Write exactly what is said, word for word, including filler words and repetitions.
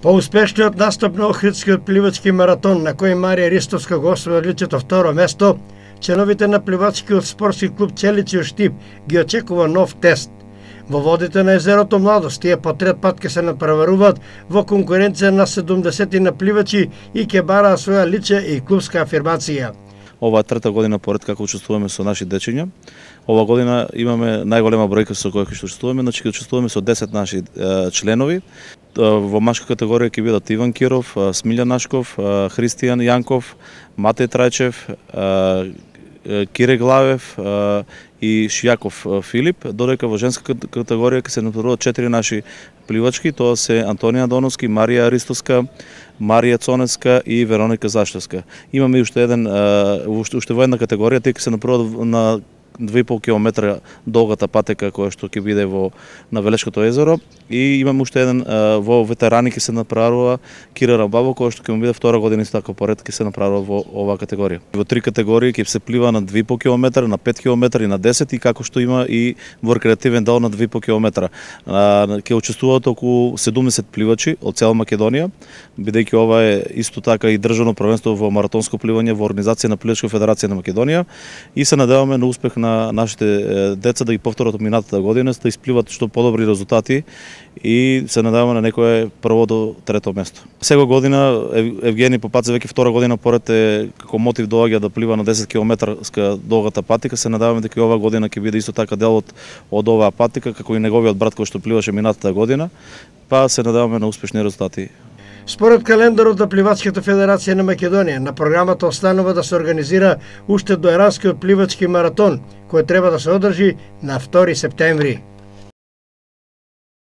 По успешниот настап на Охридскиот пливачки маратон, на кој Марија Ристовска го освои одличното второ место, членовите на пливачкиот спортски клуб Челичи Штип ги очекува нов тест. Во водите на езерото Младост тие по трет пат ќе се напреваруваат во конкуренција на седумдесет на пливачи и ќе бараа своја лична и клубска афирмација. Ова трета година поред како учествуваме со наши дечиња. Ова година имаме најголема бројка со која ќе учествуваме, значи ќе учествуваме со десет наши е, членови. Во машка категорија ќе бидат Иван Киров, Смилјан Нашков, Христијан Јанков, Матеј Трајчев, Кире Главев и Шијаков Филип, додека во женска категорија ќе се натпреваруваат четири наши пливачки, тоа се Антонија Доновски, Марија Ристоска, Марија Цонеска и Вероника Заштевска. Имаме уште еден уште во една категорија, тие ќе се натпреваруваат на две и пол километра долгата патека која што ќе биде во на Велешкото езеро, и имаме уште еден во ветерани ќе се направува Кира Рабаво, која што ќе му биде втора година исто така поред ќе се направува во оваа категорија. Во три категории ќе се плива на две и пол километра, на пет километри и на десет, и како што има и во рекреативен дел на две и пол километра. Ќе учествуваат околу седумдесет пливачи од цела Македонија, бидејќи ова е исто така и државно првенство во маратонско пливање во организација на Пливачка федерација на Македонија, и се надеваме на успех на на нашите деца да ги повторат од минатата година, да испливат што подобри резултати и се надеваме на некое прво до трето место. Сега година Евгени Попаце веќе втора година поред е како мотив доаѓа да плива на десет километарска долгата патика. Се надеваме дека и ова година ќе биде исто така дел од, од оваа патика, како и неговиот брат кој што пливаше минатата година, па се надеваме на успешни резултати. Според календарот на Пливачката федерација на Македонија, на програмата останува да се организира уште доеранскиот пливачки маратон, кој треба да се одржи на втори септември.